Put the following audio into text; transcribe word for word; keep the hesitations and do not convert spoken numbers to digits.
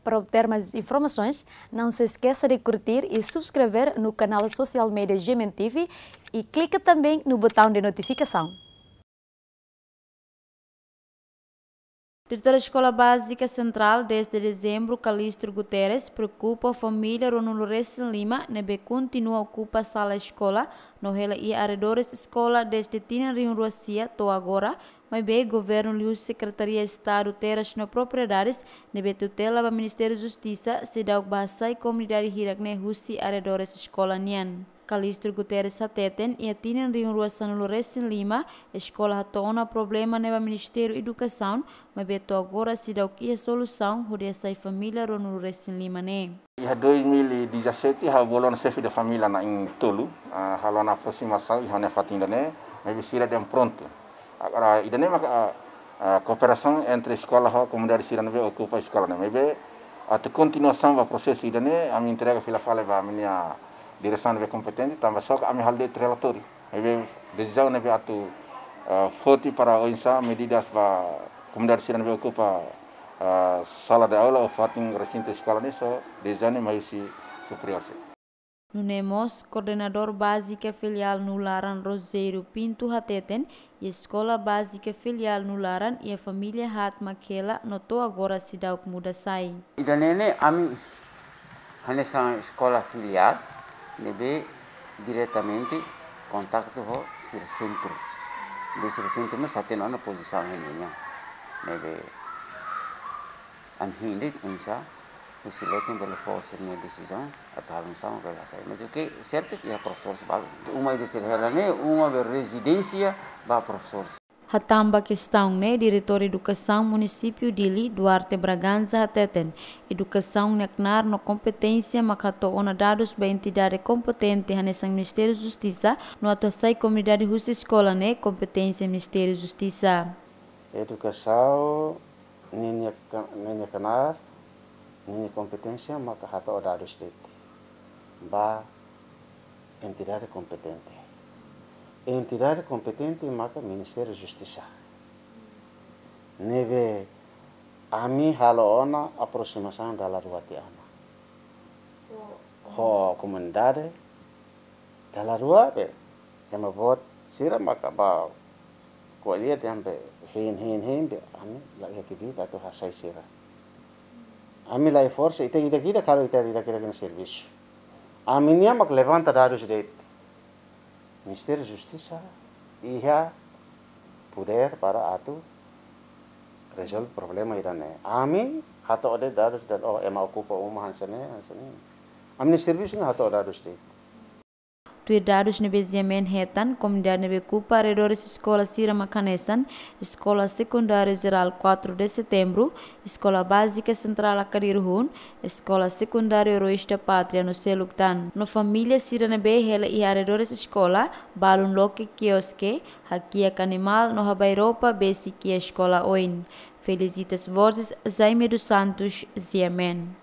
Para obter mais informações, não se esqueça de curtir e subscrever no canal social media G M N T V e clica também no botão de notificação. Diretór Eskola Bázika Sentrál, dez de Dezembru, Calixto Guterres, preokupa família ruanulu-resin-lima ne'ebé kontinua okupa sala eskola no hela iha arredores eskola dezde tinan rihun rua sia to'o agora, maibé governu liuhusi Sekretaria Estadu Terras no Propriedades ne'ebé tutela ba Ministériu Justisa seidauk bá hasai komunidade hirak ne'e husi arredores eskola nian. Calixto Guterres hateten, iha tinan rihun rua sanulu-resin-lima, eskola hato'o ona problema ne'e ba Ministériu Edukasaun, maibé to'o agora seidauk iha solusaun hodi hasai família ruanulu-resin-lima ne'e. Iha dois mil e dezassete, ha'u bolu ona xefe de família na'in-tolu, ah, halo ona aproximasaun iha ne'e fatin ida-ne'e, maibé sira dehan prontu. Agora, ida-ne'e maka, ah, ah, kooperasaun entre eskola ho komunidade sira ne'ebé okupa eskola ne'e. Maibé, atu kontinuasaun ba prosesu ida-ne'e, ami entrega fila fali ba ami-nia diresaun ne'ebé kompetente, tanba só ke ami halo de'it relatóriu. Maibé, desizaun ne'ebé atu, ah, foti para oinsá medidas ba komunidade sira ne'ebé okupa, ah, sala de aula ou fatin resintu eskola ne'e só desizaun ne'e mai husi superiór sira. Nune'e mós, koordenadór bázika filiál Nularan, Rogério Pinto, hateten, iha eskola bázika filiál Nularan iha família haat mak hela no to'o agora seidauk muda sai. Ida-ne'e ne'e ami hanesan eskola filiál ne'ebé diretamente kontaktu ho sira sentru. Be sira sentru mós hatene ona pozisaun ne'e nian. Ne'ebé ami hein de'it oinsá husi leten bele fó sira-nia desizaun atu halo oinsá mak bele hasai. Mas o que certo ke iha profesór balu. Uma ida sira hela ne'e uma be rezidénsia ba profesór. Hatán ba kestaun ne'e, Diretór Edukasaun Munisípiu Dili, Duarte Bragança, hateten, edukasaun nia knaar no kompeténsia mak hato'o ona dadus ba entidade kompetente hanesan Ministériu Justisa, no atu hasai komunidade husi eskola ne'e kompeténsia Ministériu Justisa. Edukasaun ninia ka-, ninia knaar, ninia kompeténsia maka hato'o dadus de'it ba entidade kompetente. Entidade kompetente maka Ministériu Justisa. Ne'ebé ami halo ona aproximasaun dala rua tiha ona. Ho komunidade, dala rua be, ema boot sira maka bá ko'alia dehan be, hein, hein, hein be, ami la iha kbiit atu hasai sira. Ami la iha forsa, ita ida-idak, karik ita ida-idak nia servisu. Ami-nian mak levanta dadus de'it. Ministériu Justisa iha podér para atu rezolve problema ida-ne'e. Ami hato'o de'it dadus dehan, oh, ema okupa uma hanesan ne'e, hanesan ne'e. Ami-nia servisu ne'e hato'o dadus de'it. Tuir dadus ne'ebé GMN hetan, komunidade ne'ebé okupa arredores eskola sira mak hanesan, Eskola Sekundáriu Jerál quatro de Setembro, Eskola Bázika Sentrál Akadirhun, Eskola Sekundáriu Heróis da Pátria no seluk tan. No família sira ne'ebé hela iha arredores eskola, balun loke kioske, hakiak animál no habai roupa besik iha eskola oin. Felicitas Borges, Jaime dos Santos, GMN.